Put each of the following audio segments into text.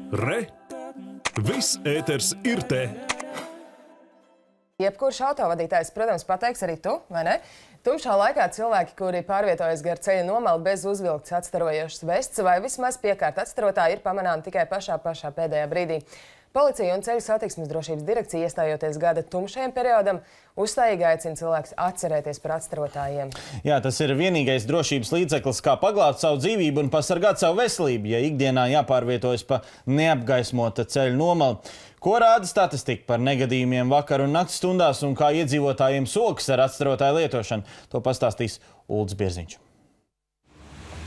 Re! Viss ēters ir te! Jebkurš autovadītājs, protams, pateiks arī tu, vai ne? Tumšā laikā cilvēki, kuri pārvietojas gar ceļa nomalu bez uzvilktas atstarojošas vests vai vismaz piekārt atstarotāji, ir pamanāmi tikai pašā pēdējā brīdī. Policija un Ceļu satiksmes drošības direkcija, iestājoties gada tumšajam periodam, uzstājīgi aicina cilvēkus atcerēties par atstarotājiem. Jā, tas ir vienīgais drošības līdzeklis, kā paglābt savu dzīvību un pasargāt savu veselību, ja ikdienā jāpārvietojas pa neapgaismota ceļa nomalu. Ko rāda statistika par negadījumiem vakar un nakts stundās un kā iedzīvotājiem sokas ar atstarotāju lietošanu? To pastāstīs Uldis Bierziņš.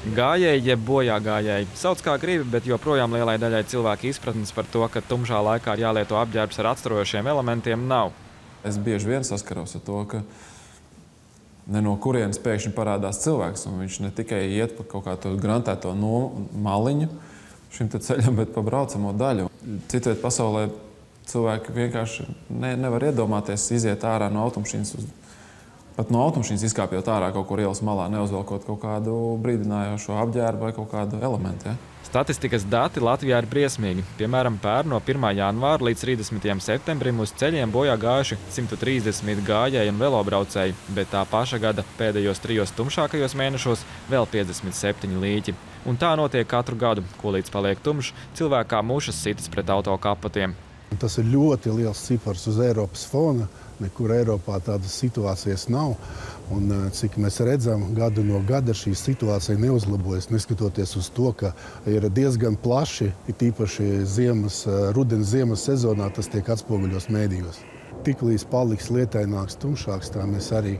Gājēji jeb bojā gājēji. Sauc kā gribi, bet joprojām lielai daļai cilvēku izpratnes par to, ka tumšā laikā ir jālieto apģērbs ar atstarojošiem elementiem, nav. Es bieži vien saskaros ar to, ka ne no kurienes pēkšņi parādās cilvēks, un viņš ne tikai iet pa kaut kādu grantēto maliņu šim te ceļam, bet pa braucamo daļu. Citviet pasaulē cilvēki vienkārši nevar iedomāties iziet ārā no automašīnas pat no automašīnas izkāpjot ārā kaut kur ielas malā, neuzvelkot kaut kādu brīdinājošo apģērbu vai kaut kādu elementu. Ja? Statistikas dati Latvijā ir briesmīgi. Piemēram, pērn no 1. janvāra līdz 30. septembrim uz ceļiem bojā gājuši 130 gājēji un velobraucēji, bet tā paša gada pēdējos 3 tumšākajos mēnešos vēl 57 līķi. Un tā notiek katru gadu, ko līdz paliek tumšs, cilvēki kā mušas sitas pret auto kapotiem. Tas ir ļoti liels cipars uz Eiropas fona. Nekur Eiropā tādas situācijas nav. Un, cik mēs redzam, gadu no gada šī situācija neuzlabojas, neskatoties uz to, ka ir diezgan plaši, it īpaši rudens ziemas sezonā, tas tiek atspoguļos mēdījos. Tiklīdz paliks lietaināks, tumšāks, tā mēs arī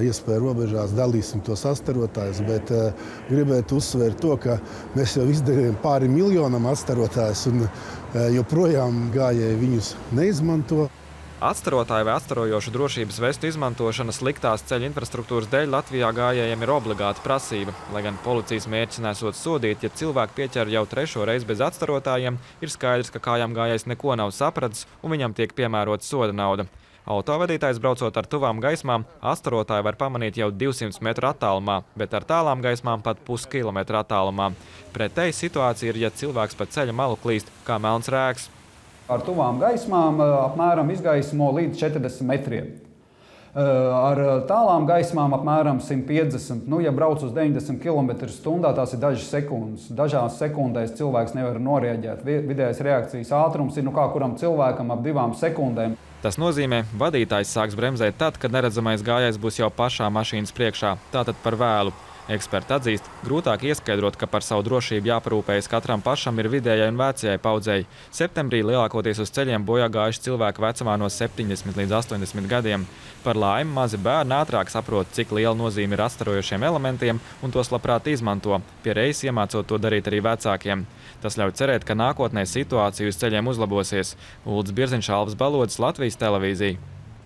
iespēju robežās dalīsim tos atstarotājus, bet gribētu uzsvērt to, ka mēs jau izdarījām pāri miljonam atstarotājus un joprojām gājēji viņus neizmanto. Atstarotāju vai atstarojošu drošības vestu izmantošana sliktās ceļa infrastruktūras dēļ Latvijā gājējiem ir obligāta prasība. Lai gan policijas mērķis nesot sodīt, ja cilvēki pieķer jau 3. reizi bez atstarotājiem, ir skaidrs, ka kājām gājējs neko nav sapratis un viņam tiek piemērota soda nauda. Autovadītājs braucot ar tuvām gaismām, atstarotāju var pamanīt jau 200 metru attālumā, bet ar tālām gaismām pat puskilometru attālumā. Pretēji situācija ir, ja cilvēks pa ceļa malu klīst kā melns rēks. Ar tuvām gaismām apmēram izgaismo līdz 40 metriem. Ar tālām gaismām apmēram 150. Ja brauc uz 90 km/h, tās ir dažas sekundes. Dažās sekundēs cilvēks nevar norēģēt. Vidējais reakcijas ātrums ir kā kuram cilvēkam ap 2 sekundēm. Tas nozīmē, vadītājs sāks bremzēt tad, kad neredzamais gājējs būs jau pašā mašīnas priekšā, tātad par vēlu. Eksperti atzīst, grūtāk ieskaidrot, ka par savu drošību jāparūpējas katram pašam ir vidējai un vecajai paudzei. Septembrī lielākoties uz ceļiem bojā gājuši cilvēki vecumā no 70 līdz 80 gadiem. Par laimi mazi bērni ātrāk saprot, cik liela nozīme ir atstarojošiem elementiem un tos labprāt izmanto, pie reizes iemācot to darīt arī vecākiem. Tas ļauj cerēt, ka nākotnē situācija uz ceļiem uzlabosies. Uldis Bierziņš, Alvis Balodis, Latvijas televīzija.